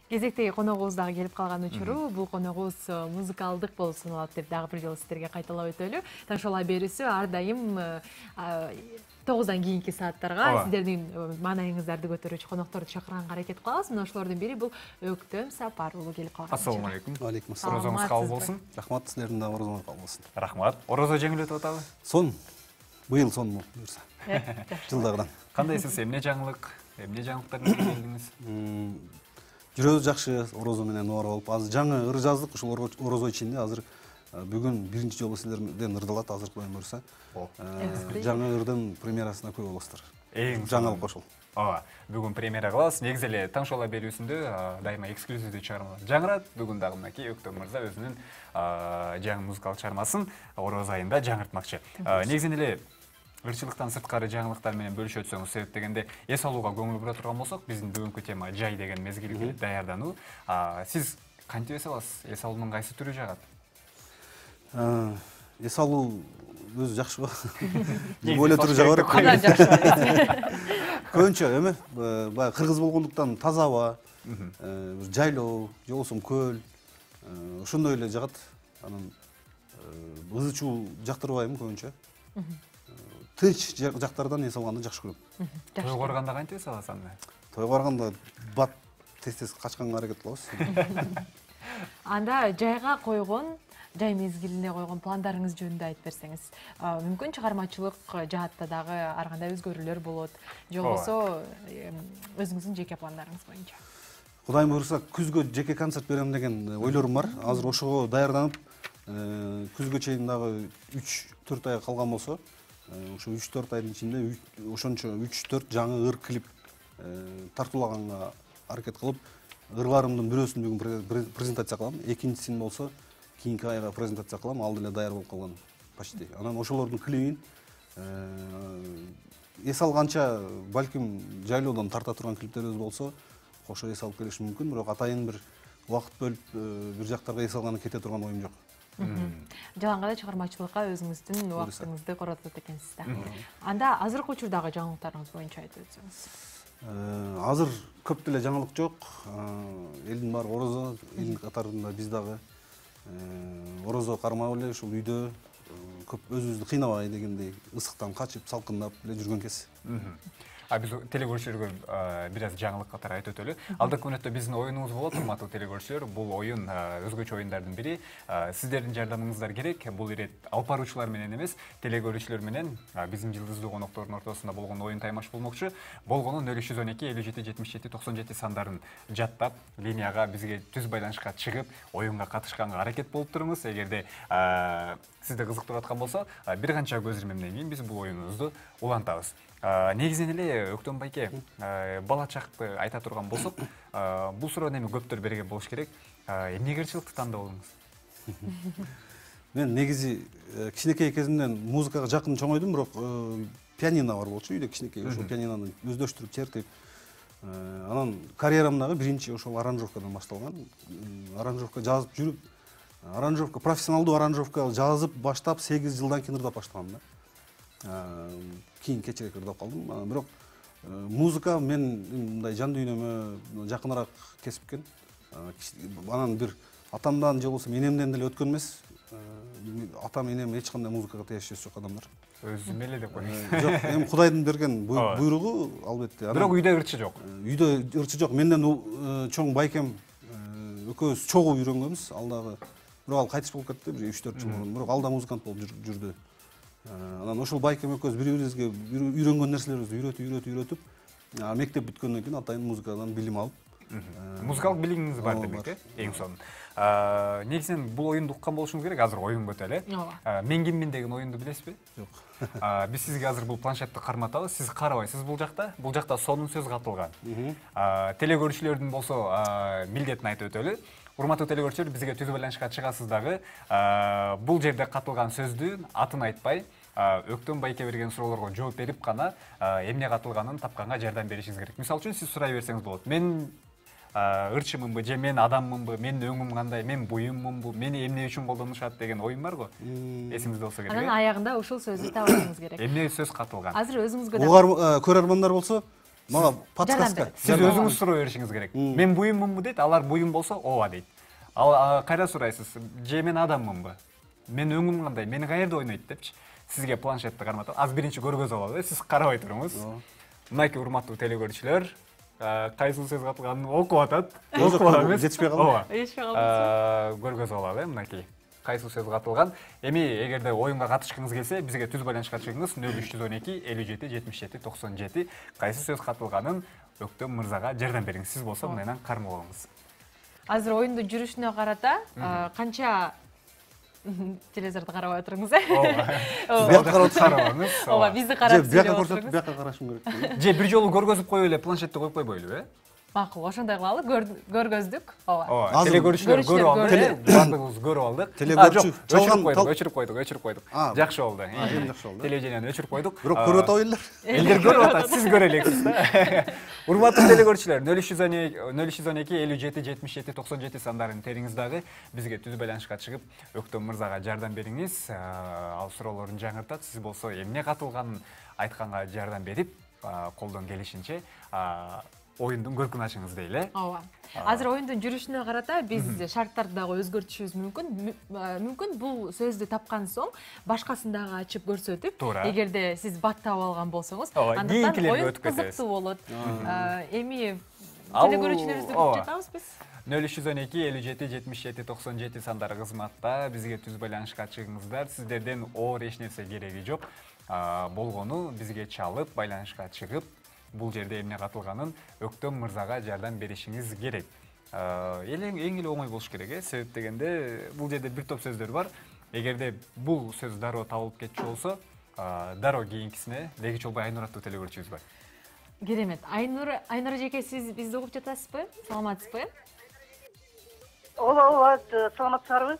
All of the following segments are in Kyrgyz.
Кезектеги коногубуз дагы келип калган учуру. Бул коногубуз музыкалдык болуп саналат деп дагы бир жолу сиздерге кайталап өтөлү. Таң шола берүүсү ар дайым 9-дан кийинки сааттарга сиздердин маанайыңыздарды көтөрүүчү конокторду чакырганга аракет кылабыз. Мына ошолордун бири бул Өктөм Сапар уулу келип калган. Ассаламу алейкум. Алейкум ассалам. Орозоңуз кабыл болсун. Рахмат, силердин да орозоңуз кабыл болсун. Рахмат. Орозо жеңил өтүп атабы? Сон. Быйыл сон буюрса. Жылдагыдан. Кандайсыз? Эмне жаңылык? Эмне жаңылыктар менен келдиңиз? Жүрөбүз жакшы, орозо менен ноор болуп. Азыр жаңы ыр жаздык, ушул орозо ичинде азыр бүгүн биринчи жолу силерден ырдалат, азыркы боюн буюрса. Жаңы ырдын премьерасына күбө болосуздар. Жаңылык ошол. Ооба, бүгүн премьера кылабыз. Негизи эле Таң шола берүүсүндө дайыма эксклюзивдүү чыгармалар жаңырат. Бүгүн дагы мынакей Өктөм мырза өзүнүн жаңы музыкалык чыгармасын Орозо айында жаңыртмакчы. Негизи эле ырчылыктан сырткары жаңылыктар менен бөлүшө өтсөңүз, себеп дегенде эс алууга көңүл бура турган болсок, биздин бүгүнкү тема жай деген мезгилге даярдануу. Сиз кантип эс аласыз? Эс алуунун кайсы түрү жагат? Эс алуу өзү жакшы го. Бөлө түрү жагат. Андан жакшы. Көбүнчө эме, баягы кыргыз болгондуктан таза аба, жайлоо, же болбосо көл, ошондой эле жагат. Анан ызы чуу жактырбайм көбүнчө. Тынч жактардан эс алганды жакшы көрөм. Тойго барганда кантип эс аласыз анда? Тойго барганда бат тез качканга аракет кылабыз. Анда жайга койгон, жай мезгилине койгон пландарыңыз жөнүндө айтып берсеңиз. Мүмкүн чыгармачылык жаатта дагы ар кандай өзгөрүүлөр болот, же болбосо өзүңүздүн жеке пландарыңыз боюнча. Кудайым буйрса, күзгө жеке концерт берем деген ойлорум бар. Азыр ошого даярданып, күзгө чейин дагы 3-4 ай калган болсо, ошо 3-4 айдын ичинде ошончо 3-4 жаңы ыр клип тартуулаганга аракет кылып, ырларымдын бирөөсүн бүгүн презентация кылам, экинчисин болсо кийинки айга презентация кылам, ал деле даяр болуп калган почти. Анан ошолордун клибин эс алганча балким жайлоодон тарта турган клиптерибиз болсо, кошо эс алып келишим мүмкүн, бирок атайын бир убакыт бөлүп бир жактарга эс алганы кете турган оюм жок. Жалаң гана чыгармачылыкка өзүңүздүн убактыңызды коротот экенсиз да. Анда азыркы учурдагы жаңылыктарыңыз боюнча айтып өтсөңүз. Азыр көп деле жаңылык жок. Элдин баары орозо, элдин катарында биз дагы орозо кармап эле ушул үйдө көп өзүбүздү кыйнабай дегендей ысыктан качып, салкындап эле жүргөн кез. Биз телекөрүүчүлөргө бир аз жаңылык катары айтып өтөлү. Алдыңкы мүнөттө биздин оюнубуз болот, урматтуу телекөрүүчүлөр. Бул оюн өзгөчө оюндардын бири. Сиздердин жардамыңыздар керек. Бул ирет алып баруучулар менен эмес, телекөрүүчүлөр менен биздин жылдыздуу коноктордун ортосунда болгон оюн таймаш болмокчу. Болгону 0312 57 77 97 сандарын жаттап, линияга бизге түз байланышка чыгып, оюнга катышканга аракет болуп туруңуз. Эгерде сизди кызыктырып аткан болсо, бир канча көз ирмемден кийин биз бул оюнубузду улантабыз. Негизинен эле Өктөм байке, бала чакты айта турган болсок, бул суроону эми көптөр берген болуш керек. Эмнеге ырчылыкты тандадыңыз? Мен негизи кичинекей кезимден музыкага жакын чоңойдум, бирок пианино бар болчу үйдө, кичинекей ошол пианинону өздөштүрүп чертип, анан карьерам дагы биринчи ошол аранжировкадан башталган. Аранжировка жазып жүрүп, профессионалдуу аранжировка жазып баштап 8 жылдан кийин ырдап баштагам да. Кийин кечирээк ырдап калдым. Бирок музыка мен мындай жан дүйнөмө жакыныраак кесип экен. Анан бир атамдан же болбосо энемден деле өткөн эмес. Атам, энем эч кандай музыкага тиешеси жок адамдар. Өзүм эле деп коеюн. Жок, эми Кудайдын берген буйругу албетте. Бирок үйдө ырчы жок. Үйдө ырчы жок. Менден чоң байкем экөөбүз чогуу үйрөнгөнбүз. Ал дагы бирок ал кайтыш болуп кетти, бир 3-4 жыл мурун. Бирок ал да музыкант болуп жүрдү. Анан ошол байкем экөөбүз бири-бирибизге үйрөнгөн нерселерибизди үйрөтүп, мектеп бүткөндөн кийин атайын музыкадан билим алып. Музыкалык билимиңиз бар демек, эң сонун. Негизинен бул оюнду уккан болушуңуз керек. Азыр оюнга өтөлү. Мен киммин деген оюнду билесизби? Жок. Биз сизге азыр бул планшетти карматабыз. Сиз карабайсыз бул жакта. Бул жакта сонун сөз катылган. Телекөрүүчүлөрдүн болсо милдетин айтып өтөлү. Урматтуу телекөрүүчүлөр, бизге түз байланышка чыгасыз дагы. Бул жерде катылган сөздүн атын айтпай, Өктөм байке берген суроолорго жооп берип гана эмне катылганын тапканга жардам беришиңиз керек. Мисалы үчүн сиз сурай берсеңиз болот. Мен ырчымынбы, же мен адаммынбы, менин өңүм кандай, мен буюммунбу, мени эмне үчүн колдонушат деген оюм бар го. Эсиңизде болсо керек. Анан аягында ушул сөздү табышыңыз керек. Эмне сөз катылган? Азыр өзүңүзгө көрөрмандар болсо, мага подсказка. Сиз өзүңүз суроо беришиңиз керек. Мен буюммунбу дейт, алар буюм болсо ооба дейт. Ал кайда сурайсыз? Же мен адаммынбы? Мен өңүм кандай? Мени каерде ойнойт депчи. Сизге планшетти карматып, аз биринчи көргөзүп алалы, сиз карабай туруңуз. Мынакей урматтуу телекөрүүчүлөр, кайсы сөз катылганын окуп атат. Окуп атабыз. Жетишпей калды. Жетишпей калды. Көргөзүп алалы, мынакей. Кайсы сөз катылган. Эми эгерде оюнга катышкыңыз келсе, бизге түз байланышка чыгыңыз 0312 57 77 97. Кайсы сөз катылганын Өктөм мырзага жардам бериңиз. Сиз болсо мындан кармап алыңыз. Азыр оюндун жүрүшүнө карата канча телевизорду карабай отуруңуз, э? Бияка карабаңыз. Ооба, бизди карап бияка көрсөтүп, бияка карашым керек. Же бир жолу көргөзүп коюп эле планшетти коюп койбойлубу, э? Макул, ошондой кылалы, көргөздүк. Ооба. Телекөрүүчүлөр көрүп алды, баардыгыбыз көрүп алдык. Телегөрүүчү өчүрүп койдук. Жакшы болду. Жакшы болду. Телевидениени өчүрүп койдук. Бирок көрүп атабайлар. Элдер көрүп атат, сиз көрө элексиз да. Урматтуу телекөрүүчүлөр, 0312 57 77 97 сандарын териңиз дагы бизге түз байланышка чыгып, Өктөм мырзага жардам бериңиз. Ал суроолорун жаңыртат. Сиз болсо эмне катылганын айтканга жардам берип, колдон келишинче оюндун көркүн ачыңыз дейли. Ооба. Азыр оюндун жүрүшүнө карата биз шарттарды дагы өзгөртүшүбүз мүмкүн. Мүмкүн бул сөздү тапкан соң башкасын дагы ачып көрсөтүп, эгерде сиз баттап алган болсоңуз, андыктан оюн кызыктуу болот. Эми телекөрүүчүлөрүбүздү күтүп жатабыз биз. 0312 57 77 97 сандары кызматта бизге түз байланышка чыгыңыздар. Сиздерден оор эч нерсе кереги жок. Болгону бизге чалып, байланышка чыгып, бул жерде эмне катылганын Өктөм мырзага жардам беришиңиз керек. Эң эле оңой болуш керек, э? Себеп дегенде бул жерде бир топ сөздөр бар. Эгерде бул сөз дароо табылып кетчү болсо, дароо кийинкисине Леги Чолбой Айнур аттуу телекөрүүчүбүз бар. Керемет. Айнур эжеке, сиз бизди угуп жатасызбы? Саламатсызбы? Ооба, саламатсыздарбы?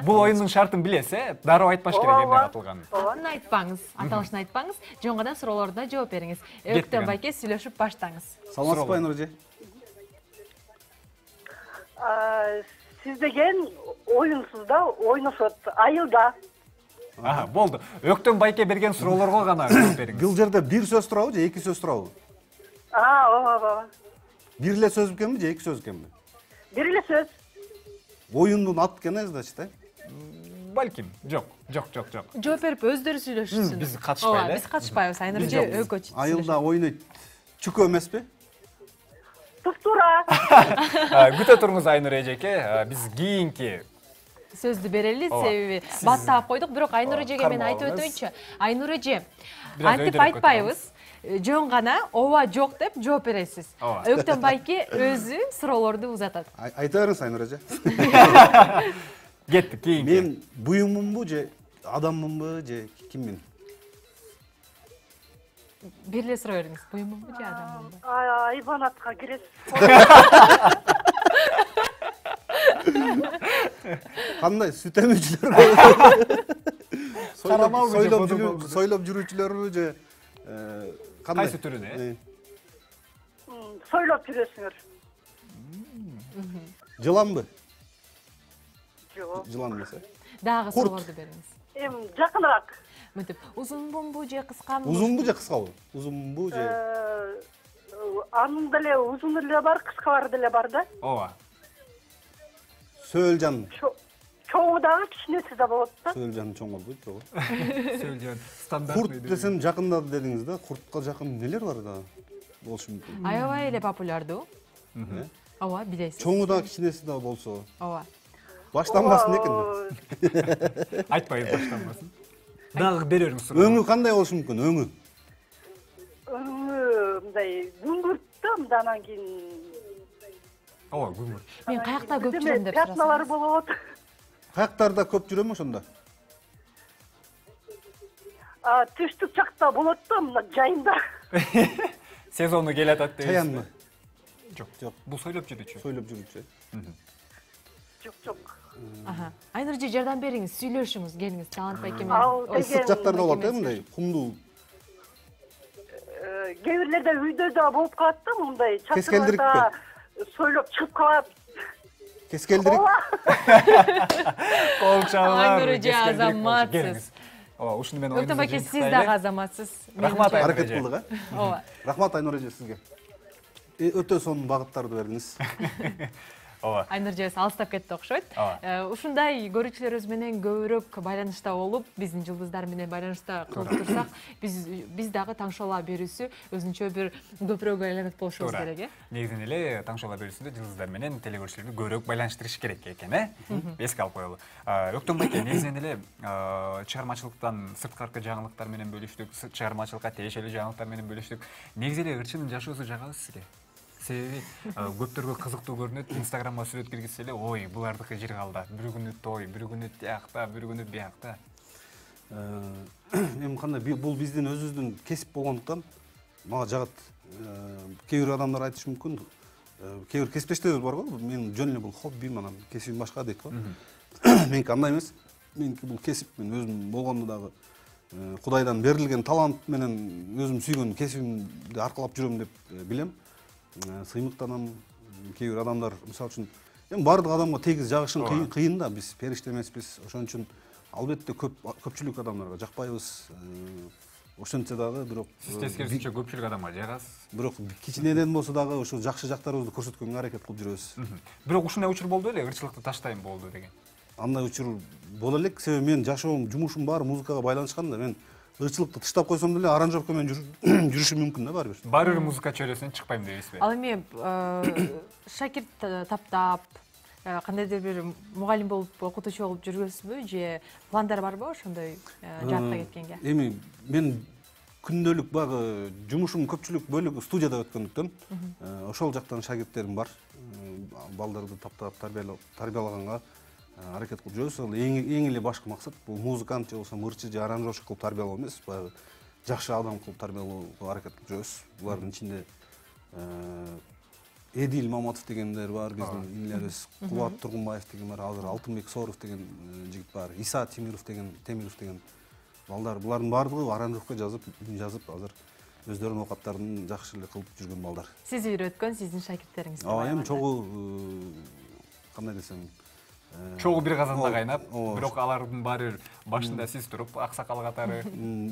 Бул оюндун шартын билесиз, э? Дароо айтпаш керек эмне катылганын. Атын айтпаңыз, аталышын айтпаңыз, жоңгадан суроолоруна жооп бериңиз. Өктөм байке сүйлөшүп баштаңыз. Саламатсызбы Айнур эже? Сиз деген оюнсуз да, ойношот, айылда. Болду. Өктөм байке берген суроолорго гана жооп бериңиз. Бул жерде бир сөз турабы же эки сөз турабы? Ооба. Бир эле сөз экенби же эки сөз экенби? Бир эле сөз. Оюндун аты экен, значит, э? Балким, жок. Жооп берип өздөрү сүйлөшсүн. Биз катышпайлы. Ооба, биз катышпайбыз. Айнур эже өкөч. Айылда ойнойт. Чүкө эмеспи? Туптура. Күтө туруңуз Айнур эжеке, биз кийинки сөздү берели, себеби баттап койдук, бирок Айнур эжеге мен айтып өтөйүнчү. Айнур эже, антип айтпайбыз. Жөн гана ооба жок деп жооп бересиз. Өктөм байке өзү суроолорду узатат. Айта бериңиз Айнур эже. Кеттик кийинки. Мен буюммунбу же адаммынбы же киммин? Бир эле суроо бериңиз. Буюммунбу же адаммынбы? Айбанатка киресиз. Кандай сүт эмүүчүлөр? Сойлоп жүрүүчүлөрбү же кайсы түрүнө? Сойлоп жүрөсүңөр. Жыланбы? Жок. Жылан эмес, э? Дагы суроолорду бериңиз. Жакыныраак. Мынтип, узунбу же кыскамбы? Узунбу же кыскабы? Узунбу же? Анын деле узун деле бар, кыскалары деле бар да. Ооба. Сөөлжан. Чоңу дагы, кичинеси да болот да. Сөөлжан чоң болбойт, жок. Сөөлжан стандартный. Курт десем жакында дедиңиз да, куртка жакын нелер бар да болушу мүмкүн. Аябай эле популярдуу. Ооба, билесиз. Чоңу да кичинеси да болсо. Ооба. Баштанбасын экен. Айтпайбыз баштанбасын. Дагы бериңиз суроо. Өңү кандай болушу мүмкүн? Өңү мындай күңгүрт да, мындан кийин. Ооба, күңгүрт. Мен каякта көп жүрөм деп сурасам. Пятналар болот. Каяктарда көп жүрөмү ошондо? Түштүк жакта болот да, мына жайында. Сезону келатат дейсиз. Чаянмы? Жок. Бул сойлоп жүрүүчү. Сойлоп жүрүүчү. Жок. Айнур эже, жардам бериңиз, сүйлөшүңүз, келиңиз, Талант байке Ал менен. Ысык жактарда болот, э, мындай кумдуу. Кээ бирлерде үйдө да болуп калат да, мындай Кескелдирикпи? чатырда сойлоп чыгып калат. Кескелдирик. Кол чалган. Айнур эже азаматсыз. Ооба, ушуну мен Өктөн байке, сиз дагы азаматсыз. Рахмат, аракет кылдык, Ооба. Рахмат Айнур эже сизге. Өтө сонун багыттарды бердиңиз. Ооба. Айнур эжебиз алыстап кетти окшойт. Ушундай көрүүчүлөрүбүз менен көбүрөөк байланышта болуп, биздин жылдыздар менен байланышта кылып турсак, биз дагы таң шола берүүсү өзүнчө бир көпүрөөк айланып болушубуз керек, Негизинен эле таң шола берүүсүндө жылдыздар менен телекөрүүчүлөрдү көбүрөөк байланыштырыш керек экен, Эске алып коелу. Өктөн байке, негизинен эле чыгармачылыктан сырткаркы жаңылыктар менен бөлүштүк, чыгармачылыкка тиешелүү жаңылыктар менен бөлүштүк. Негизи эле ырчынын жашоосу жагабы сизге? Себеби көптөргө кызыктуу көрүнөт, Инстаграмга сүрөт киргизсе эле, ой, булардыкы жер калда, бир күнү той, бир күнү тиякта, бир күнү биякта. Эми кандай, бул биздин өзүбүздүн кесип болгондуктан мага жагат. Кээ бир адамдар айтышы мүмкүн, кээ бир кесиптештерибиз бар го, менин жөн эле бул хоббим, анан кесибим башка дейт го. Меники андай эмес. Меники бул кесип, мен өзүм болгондо дагы Кудайдан берилген талант менен өзүм сүйгөн кесибимди аркалап жүрөм деп билем. Сыймыктанам. Кээ бир адамдар, мисалы үчүн, эми бардык адамга тегиз жагышын кыйын да, биз периште эмеспиз. Ошон үчүн албетте көпчүлүк адамдарга жакпайбыз. Ошентсе дагы бирок Сиз тескерисинче көпчүлүк адамга жагасыз. Бирок кичинеден болсо дагы ошо жакшы жактарыбызды көрсөткөнгө аракет кылып жүрөбүз. Бирок ушундай учур болду эле, ырчылыкты таштайм болду деген. Андай учур боло элек, себеби менин жашоом, жумушум баары музыкага байланышкан да. Мен ырчылыкты тыштап койсом деле аранжировка менен жүрүшүм мүмкүн да баары бир. Баары бир музыка чөйрөсүнөн чыкпайм дейсизби? Ал эми шакирт таптап, кандайдыр бир мугалим болуп, окутуучу болуп жүргөнсүзбү, же пландар барбы ошондой жаатка кеткенге? Эми мен күндөлүк багы жумушум көпчүлүк бөлүгү студияда өткөндүктөн, ошол жактан шакирттерим бар. Балдарды таптап, тарбиялаганга аракет кылып жүрөбүз. Эң эле башкы максат бул музыкант же болбосо ырчы же аранжировщик кылып тарбиялоо эмес, баягы жакшы адам кылып тарбиялоого аракет кылып жүрөбүз. Булардын ичинде Эдил Маматов дегендер бар, биздин инилерибиз, Кубат Тургунбаев деген бар, азыр Алтынбек Сооров деген жигит бар, Иса Темиров деген балдар. Булардын баардыгы аранжировка жазып, азыр өздөрүнүн окаттарын жакшы эле кылып жүргөн балдар. Сиз үйрөткөн сиздин шакирттериңиз бар. Эми чогуу кандай десем, Чогуу бир казанда кайнап, бирок алардын баары башында сиз туруп, аксакал катары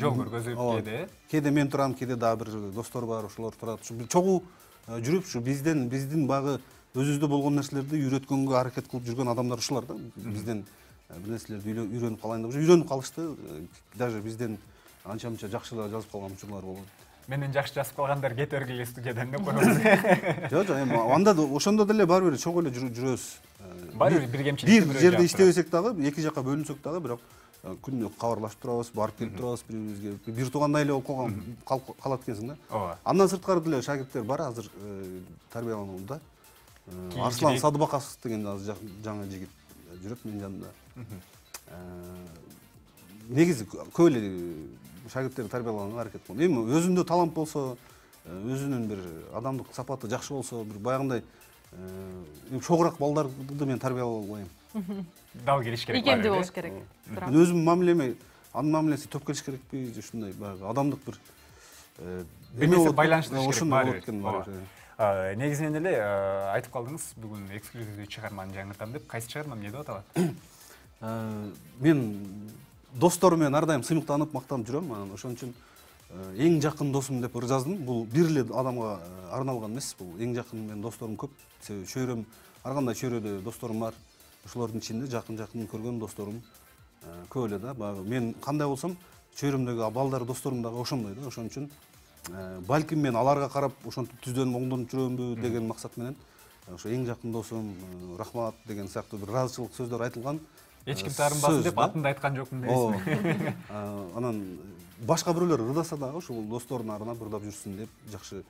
жол көргөзүп кээде мен турам, кээде дагы бир достор бар, ошолор турат. Чогуу жүрүп, биздин багы өзүбүздө болгон нерселерди үйрөткөнгө аракет кылып жүргөн адамдар ушулар да. Бизден бир нерселерди үйрөнүп калайын деп үйрөнүп калышты. Даже бизден анча-мынча жакшы жазып калган учурлар болду. Менден жакшы жазып калгандар кете бергиле студиядан деп коебуз. Жок, эми анда ошондо деле баары бир чогуу эле жүрөбүз. Баары бир кемчилик. Бир жерде иштебесек дагы, эки жакка бөлүнсөк дагы, бирок күнүнө кабарлашып турабыз, барып келип турабыз бири-бирибизге. Бир туугандай эле болуп калат экенсиң да. Ооба. Андан сырткары деле шакирттер бар, азыр тарбияланууда. Арслан Садыбакасов деген азыр жаңы жигит жүрөт менин жанымда. Негизи көп эле шакирттер тарбиялаганга аракет кылам. Эми өзүндө талант болсо, өзүнүн бир адамдык сапаты жакшы болсо, бир баягындай чогураак балдарды мен тарбиялай албайм. Дал келиш керек. Ийгемдүү болуш керек. Мен өзүм мамилеме, анын мамилеси төп келиш керекпи, же ушундай баягы адамдык бир байланыштырыш керек бар. Негизинен эле айтып калдыңыз, бүгүн эксклюзивдүү чыгарманы жаңыртам деп. Кайсы чыгарма, эмне деп аталат? Мен досторум менен ар дайым сыймыктанып, мактанып жүрөм. Ошон үчүн эң жакын досум деп ыр жаздым. Бул бир эле адамга арналган эмес, бул эң жакын менин досторум көп. Себеби чөйрөм, ар кандай чөйрөдө досторум бар. Ошолордун ичинде жакын көргөн досторум көп эле да. Мен кандай болсом, чөйрөмдөгү балдар досторум дагы ошондой да. Ошон үчүн балким мен аларга карап ошентип түздөнүп оңдонуп жүрөмбү деген максат менен ошо эң жакын досум, рахмат деген сыяктуу бир ыраазычылык сөздөр айтылган. Эч ким таарынбасын деп атында айткан жокмун дейсизби? Анан башка бирөөлөр ырдаса дагы ушул досторунун арына ырдап жүрсүн деп жакшы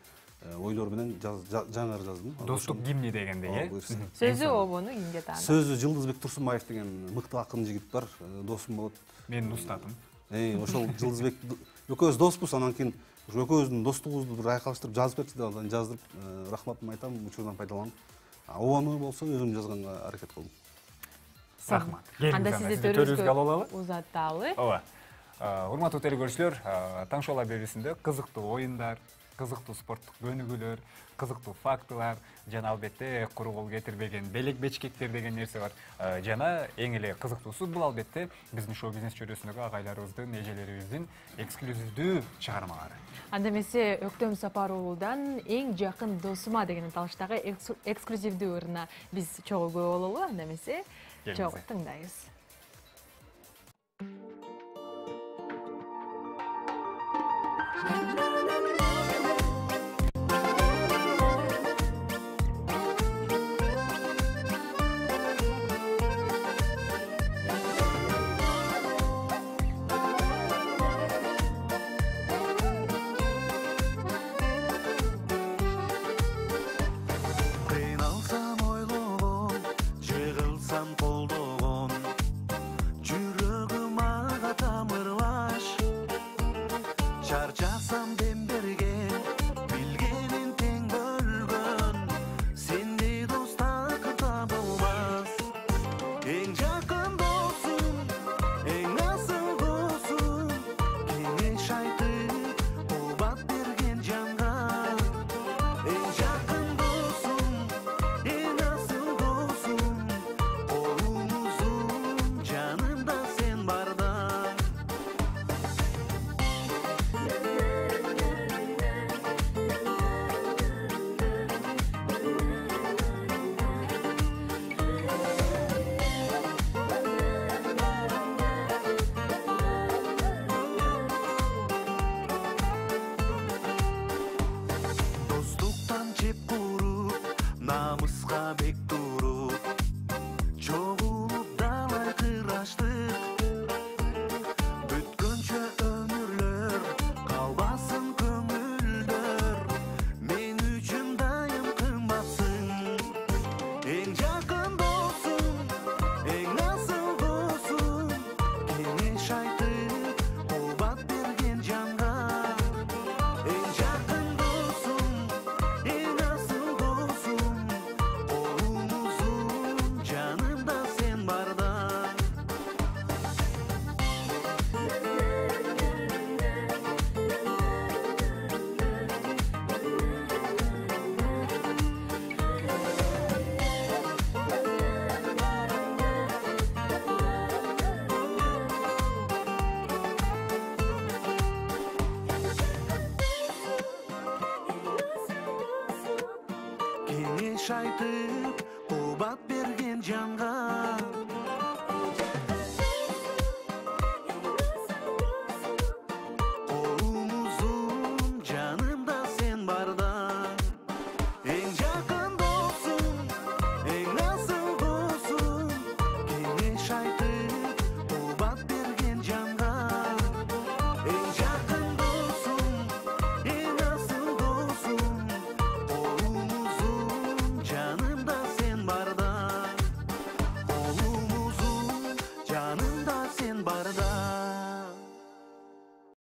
ойлор менен жаңыр жаздым. Достук гимни дегендей, Сөзү обону кимге таанат? Сөзү Жылдызбек Турсунбаев деген мыкты акын жигит бар, досум болот. Менин устатым. Ошол Жылдызбек экөөбүз доспуз, анан кийин экөөбүздүн достугубузду бир айкалыштырып жазып берчи деп анан жаздырып, рахматымды айтам, учурдан пайдаланып. Обону болсо өзүм жазганга аракет кылдым. Рахмат. Анда сизди төрүбүзгө алып алалы? Узаталы. Ооба. Урматтуу телекөрүүчүлөр, таң шола берүүсүндө кызыктуу оюндар, кызыктуу спорттук көнүгүүлөр, кызыктуу фактылар жана албетте куру кол кетирбеген белек бечкектер деген нерсе бар. Жана эң эле кызыктуусу бул албетте биздин шоу бизнес чөйрөсүндөгү агайларыбыздын, эжелерибиздин эксклюзивдүү чыгармалары. Анда эмесе Өктөм Сапар уулудан эң жакын досума деген аталыштагы эксклюзивдүү ырына биз чогуу күбө бололу. Анда эмесе чогуу тыңдайбыз. Kengеш айтып, кубат